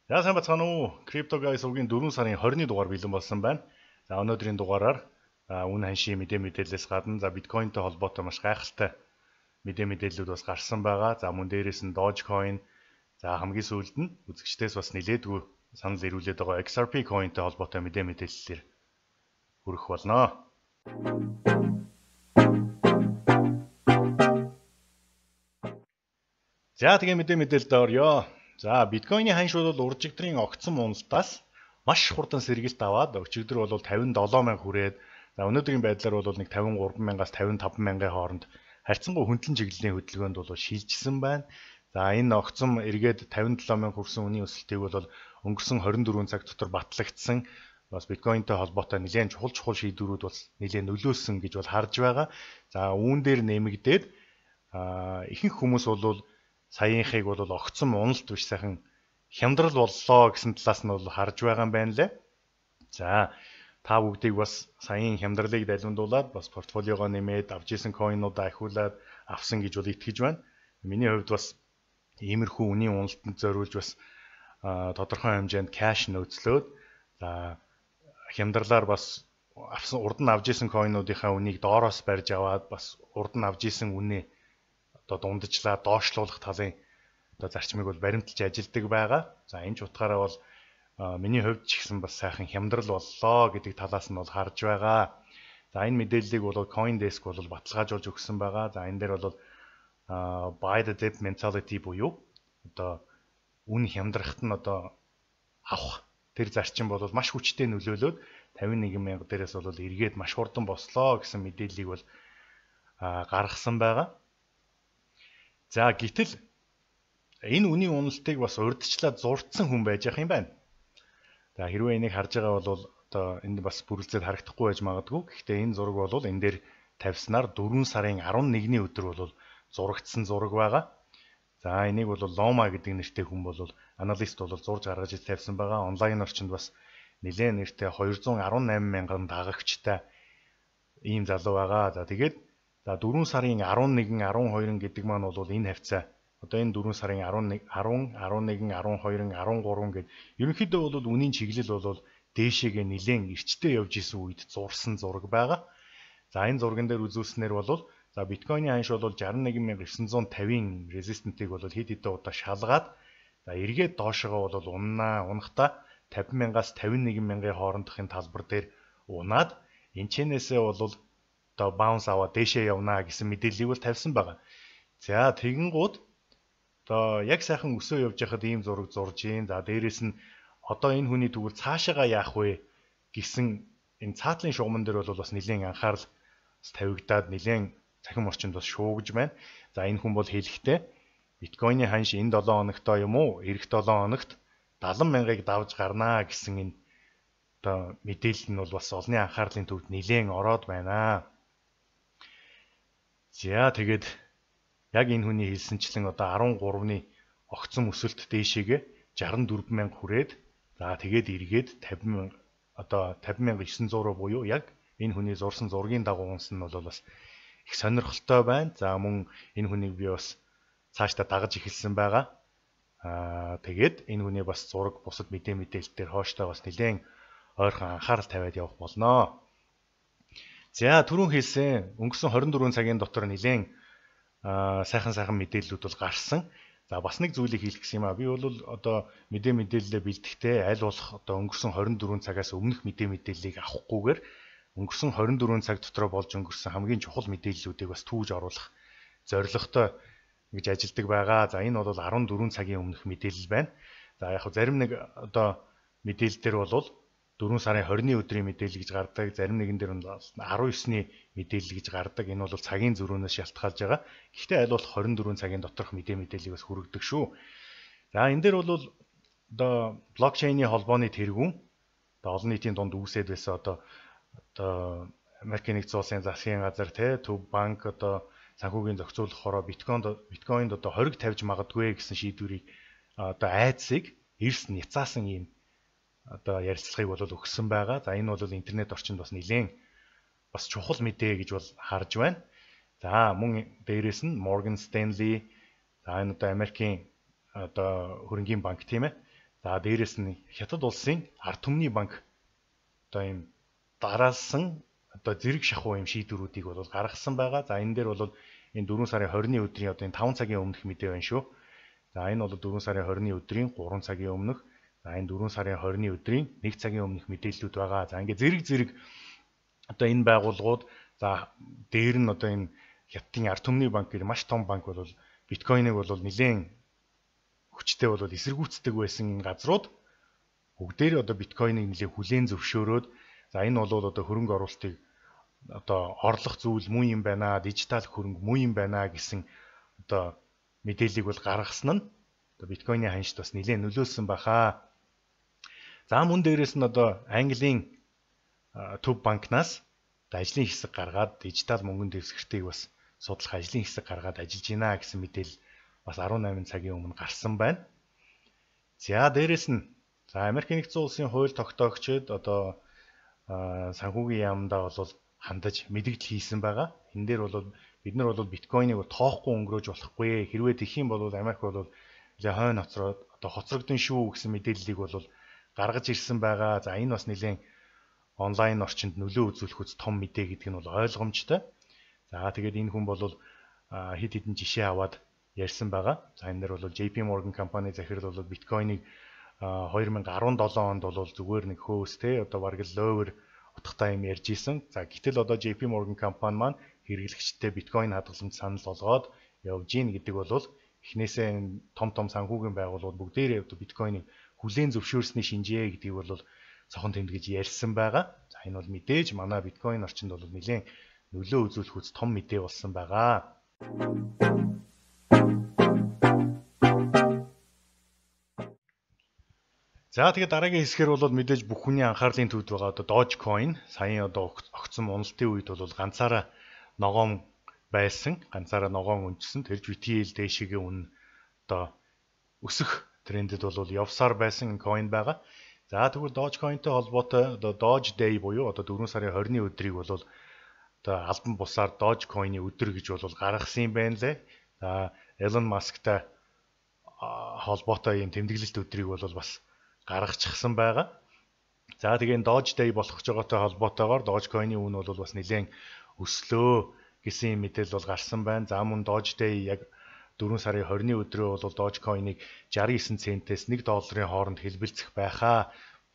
За сайн бацгаана уу. Crypto Guys угийн 4 сарын 20-ны дугаар бэлэн болсон байна. За өнөөдрийн дугаараар үн ханшийн мэдээлэлээс гадна биткойнтэй холбоотой маш гайхалтай мэдээллүүд бас гарсан байгаа. За мөн дээрээс нь Dogecoin, за хамгийн сүүлд нь үзэгчдээс бас нэлээдгүй санал ирүүлээд байгаа XRP coinтэй холбоотой мэдээллээр хүрэх болно. За тэгээ мэдээлэлд орё. За биткойны ханш бол уржигдрын огцон уналтаас маш хурдан сэргэлт аваад өчигдөр бол 57,000 хүрээд за өнөөдрийн байдлаар бол нэг 53,000-аас 55,000-ын хооронд харьцангуй хөндлөн чиглэлийн хөдөлгөөнд бол шилжсэн байна. За энэ огцон эргээд 57,000 хүрсэн үнийн өсөлтийг бол өнгөрсөн 24 цаг дотор батлагдсан бас биткойнтэй холбоотой нэлээд чухал шийдвэрүүд бас нэлээд нөлөөлсөн гэж бол харж байгаа. За үүн дээр нэмэгдээд ихэнх хүмүүс бол саяынхыг бол огцом уналт биш сайхан хямдрал боллоо гэсэн талаас нь бол харж байгаа юм байна лээ. За та бүгдийг бас саяын хямдралыг далиндуулаад бас портфолиогоо нэмээд авч исэн койнуудаа ахиулаад авсан гэж бол итгэж байна. Миний хувьд бас иймэрхүү үнийн уналтанд зориулж бас тодорхой хэмжээнд кэш нөөцлөөд за хямдралаар бас авсан урд нь авч исэн койнуудынхаа үнийг доороос барьж аваад бас урд нь авч исэн үнэ дундажлаа доошлуулах талын зарчмыг бол баримталж ажилладаг байгаа. За энэ ч утгаараа бол миний хувьд ч гэсэн бас сайхан хямдрал боллоо гэдэг талаас нь бол харж байгаа. За энэ мэдээллийг бол CoinDesk бол баталгаажуулж өгсөн байгаа. За энэ дээр бол buy the dip mentality буюу үн хямдрахт нь авах тэр зарчим бол маш хүчтэй нөлөөлөд 51,000 дээрээс бол эргээд маш хурдан бослоо гэсэн мэдээллийг бол гаргасан байгаа. За гэтэл энэ үнийн уналтыг бас урьдчилаад зурцсан хүн байж ах юм байна. За хэрвээ энийг харж байгаа бол энд бас бүрэлдэхүүн харагдахгүй байж магадгүй. Гэхдээ энэ зураг бол энэ дээр тавьснаар 4 сарын 11-ний өдөр бол зурагдсан зураг байгаа. За энийг бол Loma гэдэг нэртэй хүн бол аналист бол зурж гаргаж тавьсан байгаа. Онлайн орчинд бас нэлээд нэртэй 218,000 дагагчтай ийм залуу байгаа. За тэгээд 4 сарын 11, 12 гэдэг маань бол энэ хавцаа. Энэ 4 сарын 11, 10, 11, 12, 13 гэд ерөнхийдөө бол үнийн чиглэл бол дээшээгээ нэлээд эрчтэй явж исэн үед зурсан зураг байгаа. За энэ зурган дээр үзүүлснээр бол биткойны ханш бол 61,950-ийн резистентийг бол хэд хэдэн удаа шалгаад эргээд доошогоо бол унахдаа 50,000-аас 51,000-ын хоорондохын талбар дээр унаад энэчнээсээ бол bounce аваад дээшээ явнаа гэсэн мэдээллийг бол тавьсан байгаа. За тэгэнгүүт яг сайхан өсөө явж байхад ийм зураг зурж ийн. За дээрэс нь энэ хүний тэгвэл цаашаага яах вэ гэсэн энэ цаатлын шугамн дээр бол бас нэлээд анхаарал тавигдаад нэлээд цахим орчинд бас шуугж байна. За энэ хүн бол хэлэхдээ биткойны ханш энэ 7 хоногтоо юм уу? Эх 7 хоногт 70,000-ыг давж гарнаа гэсэн энэ мэдээлэл нь бол бас олонний анхаарлын төвд нэлээд ороод байна. За тэгээд яг энэ хүний хэлсэнчлэн 13-ны огцом өсөлт дээшээгээ 64,000 хүрээд за тэгээд эргээд 50,900 буюу яг энэ хүний зурсан зургийн дагуу унсан нь бол бас их сонирхолтой байна. За мөн энэ хүнийг би бас цаашдаа дагаж эхэлсэн байгаа. Тэгээд энэ хүний бас зураг бусад мэдээлэлээр хооштой бас нэлээд ойрхон анхаарал тавиад явах болно. За түрүүн хэлсэн өнгөрсөн 24 цагийн дотор нэлээд сайхан мэдээллүүд бол гарсан. За бас нэг зүйлийг хэлэх гэсэн юм аа. Би бол мэдээлэлээ бэлтгэхдээ аль болох өнгөрсөн 24 цагаас өмнөх мэдээллийг авахгүйгээр өнгөрсөн 24 цаг дотор болж өнгөрсөн хамгийн чухал мэдээллүүдийг бас түүж оруулах зорилготой гэж ажилладаг байгаа. За энэ бол 14 цагийн өмнөх мэдээлэл байна. За яг зарим нэг мэдээлэл дээр бол 4 сарын 20-ны өдрийн мэдээлэл гэж гардаг, зарим нэгэн дээр нь 19-ний мэдээлэл гэж гардаг. Энэ бол цагийн зөрүүнөөс шалтгаалж байгаа. Гэхдээ аль болох 24 цагийн доторх мэдээллийг бас хүргэдэг шүү. За энэ дээр бол блокчейний холбооны тэргүүн олон нийтийн дунд үүсээд байсан Америкийн нэгдсэн улсын засгийн газар төв банк санхүүгийн зохицуулахаараа биткойнд хориг тавьж магадгүй гэсэн шийдвэрийг айдсыг эрс няцаасан юм ярилцлагыг бол өгсөн байгаа. За энэ бол интернет орчинд бас нэлээд бас чухал мэдээ гэж бол харж байна. За мөн дээрээс нь Morgan Stanley за энэ Америкийн хөрөнгийн банк тийм ээ. За дээрэс нь Хятад улсын ард түмний банк одоо ийм дараалсан одоо зэрэг шахуу юм шийдвэрүүдийг бол гаргасан байгаа. За энэ дээр бол энэ 4 сарын 20-ны өдрийн одоо энэ 5 цагийн өмнөх мэдээ байна шүү. За энэ бол 4 сарын 20-ны өдрийн 3 цагийн өмнөх. За энэ 4 сарын 20-ны өдрийн 1 цагийн өмнөх мэдээллүүд байгаа. За ингээ зэрэг одоо энэ байгууллагууд за дээр нь одоо энэ Хятадын ард түмний банк гэх маш том банк бол биткойныг бол нэлээд хүчтэй бол эсэргүүцдэг байсан газрууд бүгдээр одоо биткойныг нэлээд хүлээн зөвшөөрөөд за энэ бол одоо хөрөнгө оруулалтыг одоо орлох зүйл муу юм байна, дижитал хөрөнгө муу юм байна гэсэн одоо мэдээллийг бол гаргасан нь одоо биткойны ханшд бас нэлээд нөлөөлсөн баха. За мөн дээрэс нь одоо Английн төв банкнаас ажлын хэсэг гаргаад дижитал мөнгөнд дэвсгэртийг бас судлах ажлын хэсэг гаргаад ажиллаж байна гэсэн мэдээлэл бас 18 цагийн өмнө гарсан байна. За дээрэс нь за Америк нэгдсэн улсын хууль тогтоогчид одоо санхүүгийн яамдаа бол хандаж мэдээлэл хийсэн байгаа. Энэ дээр бол бид нар бол биткойныг тоохгүй өнгөрөөж болохгүй. Хэрвээ тэгэх юм бол Америк бол хойно хоцроод одоо хоцрогдсон шүү гэсэн мэдээллийг бол гаргаж ирсэн байгаа. За энэ бас нэлээд онлайн орчинд нөлөө үзүүлэхүйц том мэдээ гэдэг нь бол ойлгомжтой. За тэгээд энэ хүн бол хэд хэдэн жишээ аваад ярьсан байгаа. За энэ дээр бол JP Morgan компани захирал бол биткойныг 2017 онд бол зүгээр нэг хөөс те одоо бараг л ловер утгатай юм ярьж исэн. За гэтэл одоо JP Morgan компани маань хэрэглэгчтэй биткойн хадгаламж санал болгоод явж гин гэдэг бол эхнээсээ том санхүүгийн байгууллагууд бүгдээрээ одоо биткойныг хүлээн зөвшөөрсний шинжээ гэдгийг бол цохон тэмдэглэж ярьсан байгаа. За энэ бол мэдээж манай биткойн орчинд бол нэлээд нөлөө үзүүлэх үс том мэдээ болсон байгаа. За тэгээд дараагийн хэсгээр бол мэдээж бүх хүний анхаарлын төвд байгаа одоо Dogecoin саяхан одоо огцсон уналтын үед бол ганцаараа ногоон байсан, ганцаараа ногоон өнчсөн. Тэрж BTL дэшигийн үн одоо өсөх трендэд бол явсаар байсан coin байгаа. За тэгвэл Dogecoin-тэй холбоотой одоо Doge Day буюу одоо 4 сарын 20-ны өдрийг бол одоо албан бусаар Dogecoin-ы өдөр гэж бол гаргасан юм байна лээ. За Elon Musk-тай холбоотой юм тэмдэглэлт өдрийг бол бас гаргачихсан байгаа. За тэгээд Doge Day болох гэж байгаатай холбоотойгоор Dogecoin-ы үн бол бас нэлээд өслөө гэсэн мэдээлэл бол гарсан байна. За мөн Doge Day яг 4 сарын 20-ны өдрөө бол Dogecoin-ыг 69 центээс 1 долларын хооронд хэлбэлцэх байхаа,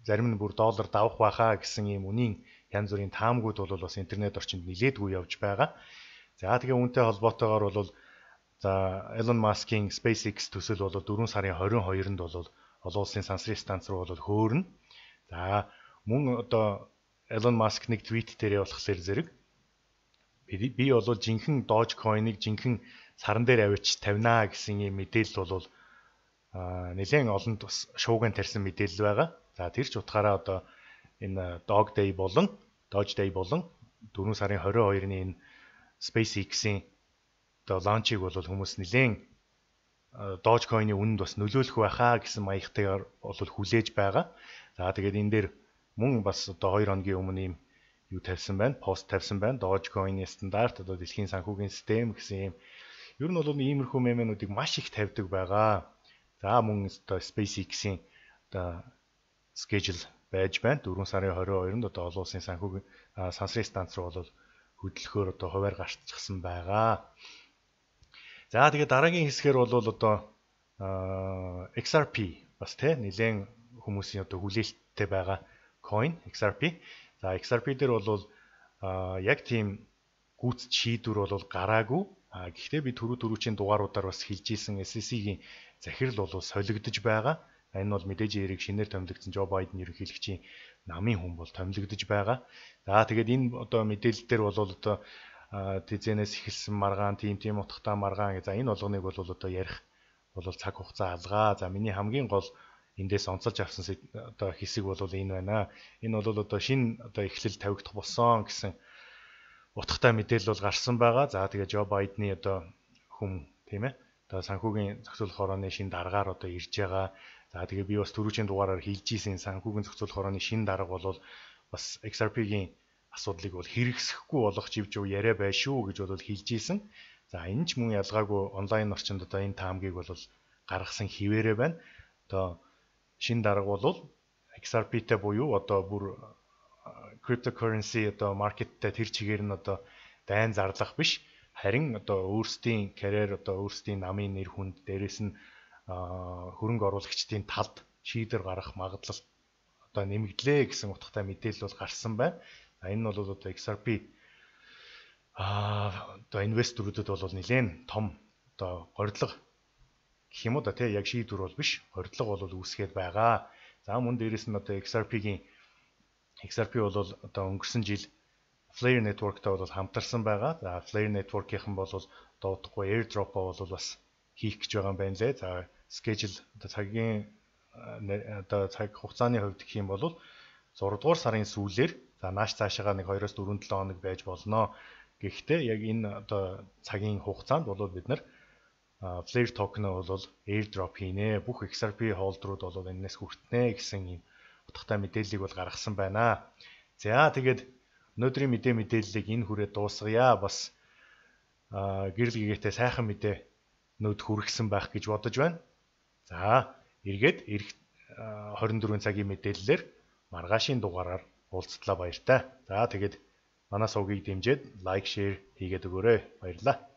зарим нь бүр доллар давах байхаа гэсэн ийм үнийн янз бүрийн таамгууд бол бас интернет орчинд нилээдгүй явж байгаа. За тэгээ үүнтэй холбоотойгоор бол за Elon Musk-ийн SpaceX төсөл бол 4 сарын 22-нд бол олон улсын сансрын станц руу бол хөөрнө. За мөн одоо Elon Musk нэг твит дээрээ болохоор зэрэг би бол жинхэнэ Dogecoin-ыг жинхэнэ саран дээр авчиж тавинаа гэсэн юм мэдээлэл бол нэлээд олонд бас шууган тарьсан мэдээлэл байгаа. За тэр ч утгаараа одоо энэ Doge Day болон 4 сарын 22-ны энэ SpaceX-ийн одоо лаунчийг бол хүмүүс нэлээд Dogecoin-ы үнэнд бас нөлөөлөх байхаа гэсэн маягтайгаар бол хүлээж байгаа. За тэгээд энэ дээр мөн бас одоо 2 хоногийн өмнө ийм юу тавьсан байна, пост тавьсан байна. Dogecoin-ы стандарт одоо дэлхийн санхүүгийн систем гэсэн юм. Ер нь бол иймэрхүү мемэнүүдийг маш их тавьдаг байгаа. За мөн одоо SpaceX-ийн одоо schedule байж байна. 4 сарын 22-нд одоо олон улсын санхүүгийн сансрын станц руу бол хөдөлгөөр одоо хуваар гарчихсан байгаа. За тэгээд дараагийн хэсгээр бол одоо XRP бас тий нэлээд хүмүүсийн одоо хүлээлттэй байгаа coin XRP. За XRP дээр бол яг тийм гүйцэд шийдвэр бол гараагүй. Гэхдээ би түрүүчийн дугааруудаар бас хэлж ийсэн SEC-ийн захирал бол солигдож байгаа. Энэ бол мэдээж эрийг шинээр томилогдсон Joe Biden ерөнхийлөгчийн намын хүн бол томилогдож байгаа. За тэгээд энэ одоо мэдээлэл дээр бол одоо тэзэнээс эхэлсэн маргаан, тийм утгатай маргаан. За энэ болгоныг бол одоо ярих бол цаг хугацаа алгаа. За миний хамгийн гол эндээс онцолж авсан одоо хэсэг бол энэ байна. Энэ бол одоо шинэ одоо эхлэл тавигдах болсон гэсэн утгатай мэдээлэл бол гарсан байгаа. За тэгээ Joe Biden-ы одоо хүм тийм ээ. Одоо санхүүгийн зохицуулах хорооны шинэ даргаар одоо ирж байгаа. За тэгээ би бас түрүүчийн дугаараар хэлж ийсэн санхүүгийн зохицуулах хорооны шинэ дарга бол бас XRP-гийн асуудлыг бол хэрэгсэхгүй болгох живж яриа байна шүү гэж бол хэлж ийсэн. За энэ ч мөн ялгаагүй онлайн орчинд одоо энэ таамгийг бол гаргасан хിവэрэ байна. Одоо шинэ дарга бол XRP-тэй буюу одоо бүр cryptocurrency одоо маркеттэй тэр чигээр нь одоо дайн зарлах биш, харин одоо өөрсдийн карьер одоо өөрсдийн намын нэр хүнд дээрээс нь хөрөнгө оруулагчдын талд шийдвэр гаргах магадлал одоо нэмэгдлээ гэсэн утгатай мэдээлэл бол гарсан байна. Энэ нь бол одоо XRP одоо инвесторуудад бол нэлээд том одоо горилго гэх юм уу да тий, яг шийдвэр бол биш, горилго бол үүсгээд байгаа. За мөн дээрэс нь одоо XRP бол одоо өнгөрсөн жил Flare Network-тай бол хамтарсан байгаа. За Flare Network-ийнхан бол доодохгүй airdrop-оо бол бас хийх гэж байгаа юм байна лээ. За schedule одоо цагийн одоо цаг хугацааны хувьд гэх юм бол 6 дугаар сарын сүүлээр за нааш цаашаага нэг 2-4 хоног байж болно. Гэхдээ яг энэ одоо цагийн хугацаанд бол бид нар Flare token-оо бол airdrop хийнэ. Бүх XRP холдерууд бол энэс хүртнэ гэсэн юм утгатай мэдээллийг бол гаргасан байна. За тэгээд өнөөдрийн мэдээллийг энэ хүрээд дуусгая. Бас гэрэл гэгээтэй сайхан мэдээ нөт хүргэсэн байх гэж бодож байна. За эргээд 24 цагийн мэдээллээр маргаашийн дугаараар уулзтлаа, баяртай. За тэгээд манай сувгийг дэмжиж лайк, шеэр хийгээд өгөөрэй. Баярлалаа.